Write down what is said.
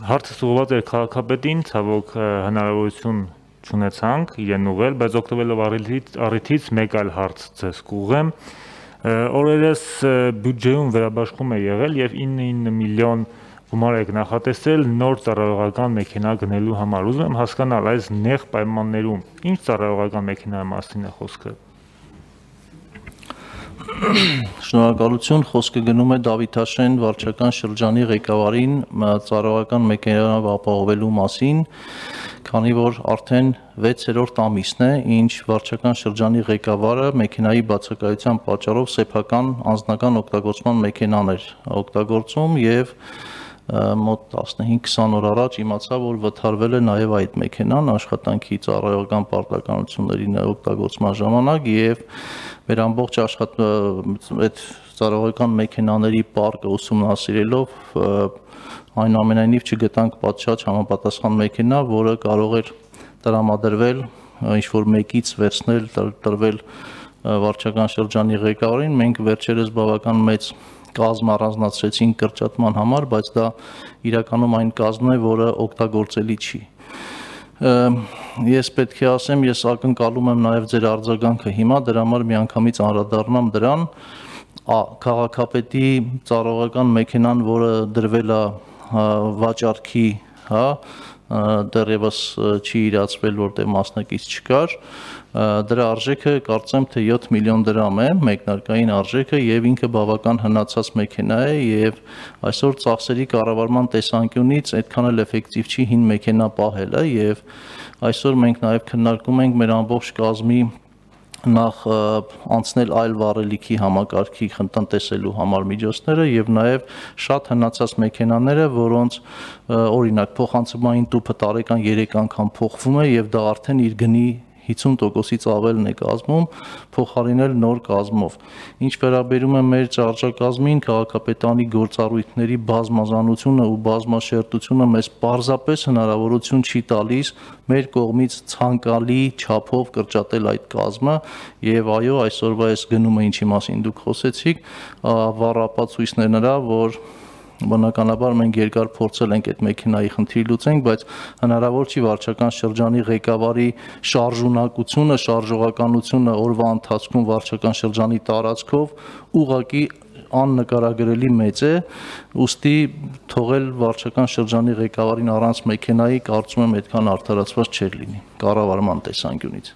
Հարցը ուղղված էր քաղաքապետին, ցավոք հնարավորություն չունեցանք իրեն ուղղել, բայց օգտվելով առիթից մեկ այլ հարց ձեզ կուղղեմ։ Օրերս բյուջեում վերաբաշխում է եղել եւ 9 միլիոն գումար եք նախատեսել նոր ծառայողական մեքենա գնելու համար։ Ուզում եմ հասկանալ այս նեղ պայմաններում ինչ ծառայողական մեքենայի մասին է խոսքը։ Շնորհակալություն, խոսքը գնում է Դավիթաշեն վարչական շրջանի ղեկավարին ծառայողական մեքենայով ապահովելու մասին, քանի որ արդեն 6-րդ ամիսն է, ինչ վարչական շրջանի ղեկավարը մեքենայի բացակայության պատճառով սեփական անձնական օգտագործման մեքենաներ օգտագործում եւ մոտ 15-20 օր առաջ իմացա, որ վթարվել է նաև այդ մեքենան աշխատանքի ծառայողական պարտականությունների օգտագործման ժամանակ եւ մեր ամբողջ այդ ծառայողական մեքենաների պարկը ուսումնասիրելով այնուամենայնիվ չգտանք պատշաճ համապատասխան մեքենա, որը կարող էր տրամադրվել ինչ-որ մեկից վերցնել, տրվել վարչական շրջանի ղեկավարին։ Մենք վերջերս բավական մեծ կազմ առանձնացրեցին կրճատման համար, բայց դա իրականում այն կազմն է, որը օգտագործելի չի։ Ես պետք է ասեմ, ես ակնկալում եմ նաև ձեր արձագանքը հիմա, դրա համար միանգամից անդրադառնամ դրան, քաղաքապետի ծառայողական մեքենան, որը դրվել է վաճառքի, դեռևս չի իրացվել, որտեղ մասնակից չկար, դրա արժեքը կարծեմ թե 7 միլիոն դրամ է, մեկնարկային արժեքը, եւ ինքը բավական հնացած մեքենա է եւ այսօր ծախսերի կառավարման տեսանկյունից այդքան էլ էֆեկտիվ չի հին մեքենա պահելը եւ այսօր մենք նաեւ քննարկում ենք մեր ամբողջ կազմի նախ անցնել այլ վառելիքի համակարգի տնտեսելու համար միջոցները եւ նաեւ շատ հնացած մեքենաները, որոնց օրինակ փոխանցումային տուփը տարեկան 3 անգամ փոխվում է եւ դա արդեն իր գնի 50%-ից ավելն է կազմում, փոխարինել նոր կազմով։ Ինչ վերաբերում է մեր շարժակազմին, քաղաքապետարանի գործառույթների բազմազանությունը ու բազմաշերտությունը մեզ պարզապես հնարավորություն չի տալիս մեր կողմից ցանկալի չափով կրճատել այդ կազմը եւ այո, այսօրվա այս գնումը ինչի մասին դուք խոսեցիք, վառ ապացույցն է նրա, որ բնականաբար մենք երկար փորձել ենք այդ մեքենայի խնդիրը լուծենք, բայց հնարավոր չի վարչական շրջանի ղեկավարի շարժունակությունը, շարժողականությունը օրվա ընթացքում վարչական շրջանի տարածքով ուղղակի աննկարագրելի մեծ է, ուստի թողել վարչական շրջանի ղեկավարին առանց մեքենայի կարծում եմ այդքան արդարացված չէր լինի կառավարման տեսանկյունից։